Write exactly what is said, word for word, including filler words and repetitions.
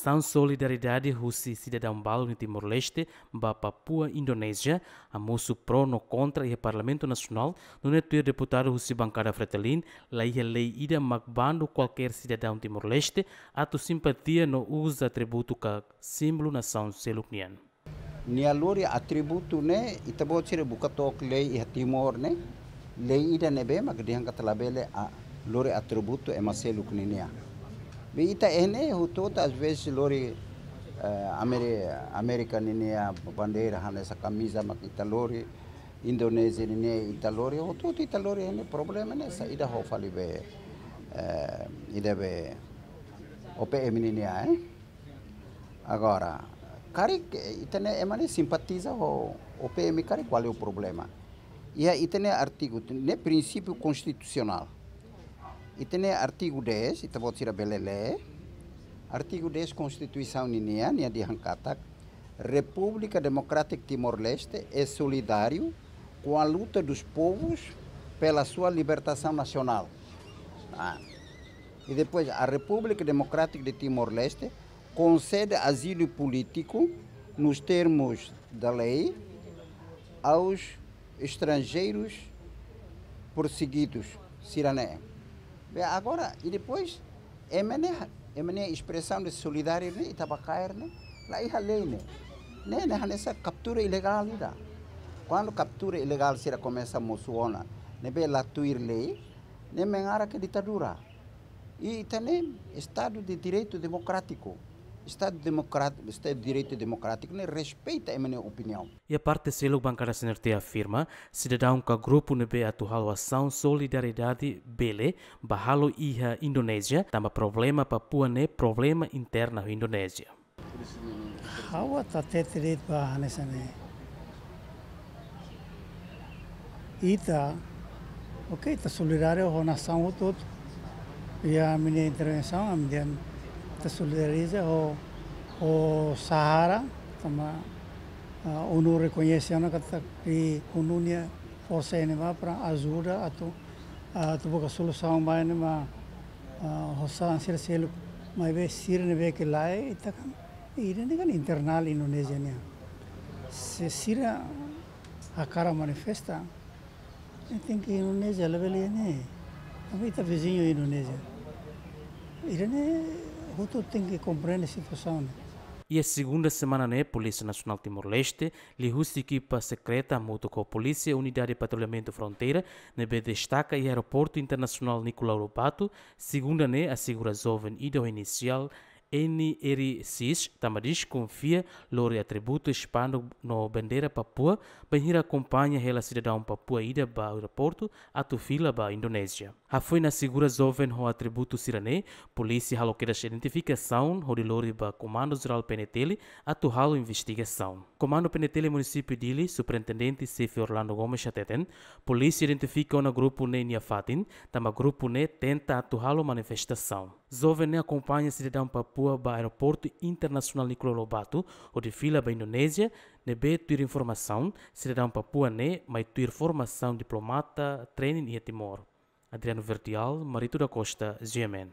Asaun solidariedade husi sidadaun balu nia Timor-Leste ba Papua, Indonézia, hamosu pró no kontra iha Parlamentu Nasionál, nune'e tuir deputadu husi bankada Fretilin, laiha lei ida mak bandu kualkér sidadaun Timor-Leste atu simpatia no uza atributu ka símbolu nasaun seluk nian. Nia lori atributu ne'e, ita-boot sira buka took lei iha Timor ne'e, lei ida ne'ebé mak dehan katak labele lori atributu ema seluk ninia. Be ita iha ne'e hotu-hotu às vezes lori, eh, Ameri-, Amérika ninia bandeira hanesan kamiza mak ita lori, Indonézia ninia ita lori, hotu-hotu ita lori iha ne'e, problema ne'e saida, ha'u fali be, eh, ida be O P M ninia, eh? Agora, karik, eh, ita ne'e ema ne'e simpatiza ho O P M karik, kuál problema? Iha ita-nia artigu, ne'e prinsípiu konstitusionál. Ita-nia artigu dez, ita-boot sira bele lee. Artigu dez Konstituisaun ninia, nia dehan katak, República Democrática Timor-Leste é solidário com a luta dos povos pela sua libertação nacional. Ah. E depois, a República Democrática de Timor-Leste concede asilo político nos termos da lei aos estrangeiros perseguidos, sira-ne'e. Be agora, e depois, ema ne'e, ema ne'e espresaun de solidariedade ne'e, ita bá kaer ne'e, laiha lei ne'e. Ne'e, ne'e hanesan kaptura ilegál ida. Kuandu kaptura ilegál sira komesa mosu ona, ne'ebé la tuir lei, ne'e mengarah ke ditadura. I ita ne'e Estadu de Direitu Demokrátiku. Estadu demokrat-, Estadu de Direitu Demokrátiku ne'e respeita ema nia opiniaun. Iha parte seluk, bankada C N R T afirma, sidadaun ka grupu ne'ebé atu halo asaun solidariedade bele bá halo iha Indonézia, tanba problema Papua ne'e problema interna Indonézia. Ha'u atu hatete de'it ba hanesan ne'e. Ita, oke, ita solidáriu ho nasaun hotu-hotu. Iha ami-nia intervensaun, ami dehan ita solidariza ho, ho Sahara, tanba, ah, ONU rekoñese ona katak ONU nia forsa iha ne'ebá para ajuda atu, ah, atu buka solusaun ba ne'e, ma, ah, ho saida sira seluk, maibé sira ne'ebé ke lae, ita kan, ida-ne'e kan internál Indonézia nian. Se sira hakarak manifesta, ne'e tenke Indonézia labele ne'e. Tanba ita viziñu Indonézia. Ida-ne'e hotu tenke komprende situasaun ne'e. Iha segunda semana ne'e, Polísia Nasionál Timor-Leste, liuhusi ekipa sekreta hamutuk ho Polísia Unidade Patrullamentu Fronteira, ne'ebé destaka iha Aeroportu Internasionál Nicolau Lobato, segunda ne'e asegura joven ida ho inisiál N R X, tanba deskonfia lori atributu espanduk no bandeira Papua, bainhira akompaña hela sidadaun Papua ida ba aeroportu atu fila ba Indonézia. Hafoin asegura joven ho atributu sira-ne'e, polísia halo kedas identifikasaun hodi lori ba Komandu Jerál P N T L atu halo investigasaun. Komandu P N T L Munisípiu Dili, Superintendente Xefe Orlando Gomes hateten, polísia identifika ona grupu ne'e nia fatin, tanba grupu ne'e tenta atu halo manifestasaun. Joven ne'e akompaña sidadaun Papua ba Aeroportu Internasionál Nicolau Lobato, hodi fila ba Indonézia, ne'ebé tuir informasaun, sidadaun Papua ne'e mai tuir formasaun diplomata treinin iha Timor. Adriano Verdial, Marito da Costa, G M N.